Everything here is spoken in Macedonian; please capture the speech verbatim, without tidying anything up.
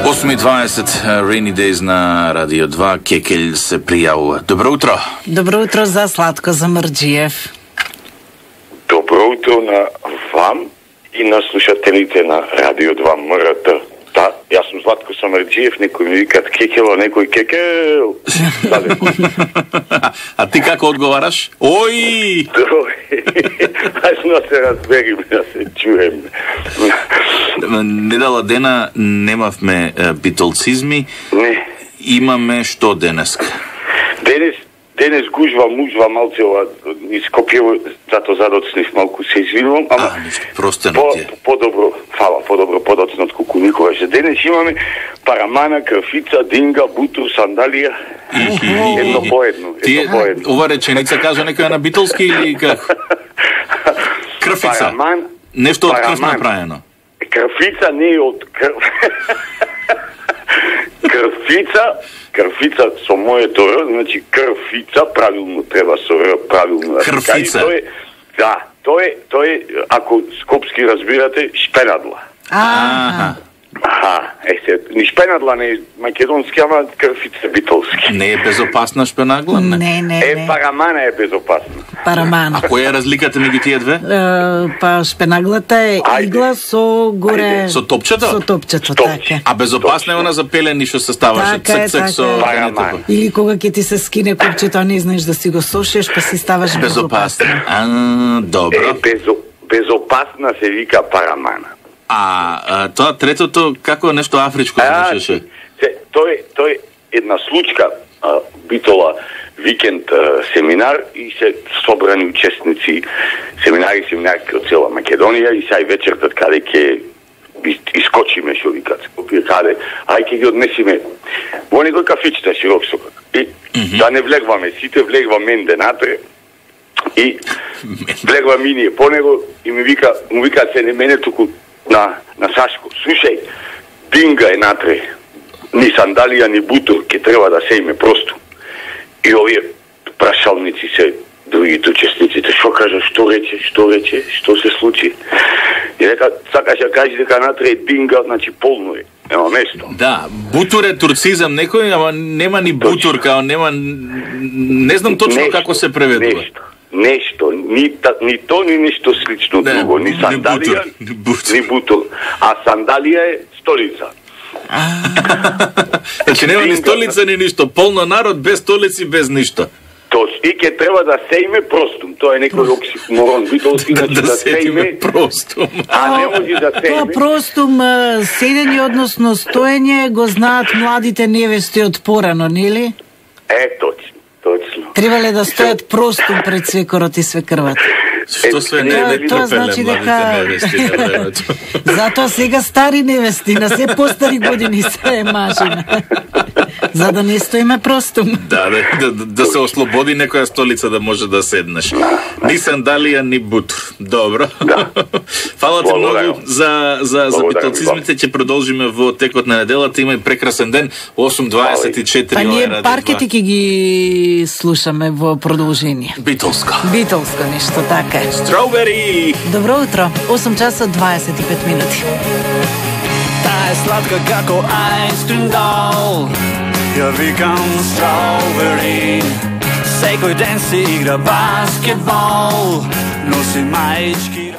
осум и дваесет Rainy Days на Радио два. Кекель се пријавува. Добро утро. Добро утро за Слатко Замрджиев. Добро утро на вам и на слушателите на Радио два МРТ. Да, јас сум Златко Самарджиев, некој ми викат Кекело, некој Кекел. а, а ти како одговараш? Ој! Ажно се разбериме, да се чуеме. Недела дена немавме битолцизми. Не. Имаме што денеска? Денес Денес гужва, мужва, малце ова ископјево, зато задоцнив малку се извинувам, ама а, ништо, простено по, ти е. По-добро, фала, по-добро подоцно од колку никогаш. Денес имаме парамана, крфица, динга, бутур, сандалија, едно по едно. Ти ова реченица кажа некоја на битолски или како? Крфица. Параман, нешто од крв направено. Крфица не е од крв. Крфица, крфица со моето р, значи крфица, правилно треба со р, правилно. Крфица. Тој е, да, тој е, тој е, ако скопски разбирате, шпенадла. А. Аха, е се, ни шпенадла не е македонски, ама крфица битолски. Не е безопасна шпенагла? Не, не, не. Е, парамана е безопасна. Парамана. А која е разликата меѓу тие две? Uh, па шпенаглата е игла со горе... Ајде. Со топчето? Со топчето, Топ. така. А безопасна е она за пелени што се ставаше Така е, цек-цек така со е. Параман. Или кога ќе ти се скине купчето, а не знаеш да си го сошиш, па си ставаш безопасна. безопасна. А, добро. Е, безо, безопасна се вика парамана. А, а тоа третото како нешто афричко звучеше? Се, тој тој една случка а, битола викенд а, семинар и се собрани учесници семинари семинарки од цела Македонија и сај вечертат каде ќе искочиме што викат. Каде, ај ќе ги однесиме во некој кафичта широк сокак. И mm -hmm. да не влегваме сите, влегва менде натре. И влегва ми ние по него и ми вика, му вика се не мене туку на, на Сашко. Слушај, динга е натре. Ни сандалија, ни бутур, ке треба да се име просто. И овие прашалници се, другите учесниците, што кажа, што рече, што рече, што се случи. И дека, сакаш ја кажи дека натре е динга, значи полно е. Нема место. Да, бутур е турцизам некој, ама нема ни бутур, као нема... Не знам точно нешто, како се преведува. Нешто. Нешто, ни, та, ни то, ни нешто слично не, друго, ни сандалија, ни бутур. ни бутур. А сандалија е столица. Значи нема ни столица, ни ништо. Полно народ, без столици, без ништо. Тоа и ке треба да се име простум. Тоа е некој оксиморон. Битолски, значи да, да се име простум. А не може да се Тоа име. простум, седење, односно стоење, го знаат младите невести од порано, нели? Е, точно, точно. Требале да стојат простум пред свекорот и свекрвата. Што све не е Тоа значи дека невести на времето. Затоа сега стари невести, на се постари години се е мажина. За да не стоиме простум. Да, да, да, да се ослободи некоја столица да може да седнеш. Ни сандалија, ни бутур. Добро. Да. Фала ти Благодарам. многу за, за, за Благодарам битолцизмите. Ќе продолжиме во текот на неделата. Има и прекрасен ден. осум дваесет и четири. Па ние паркети ќе ги слушаме во продолжение. Битолско. Битолско нешто, така е. Strawberry! Добро утро, осум часа дваесет и пет минути. Таа е сладка како Айнскрим дол. Ја викам Strawberry. Секој ден си игра баскетбол. Носи маички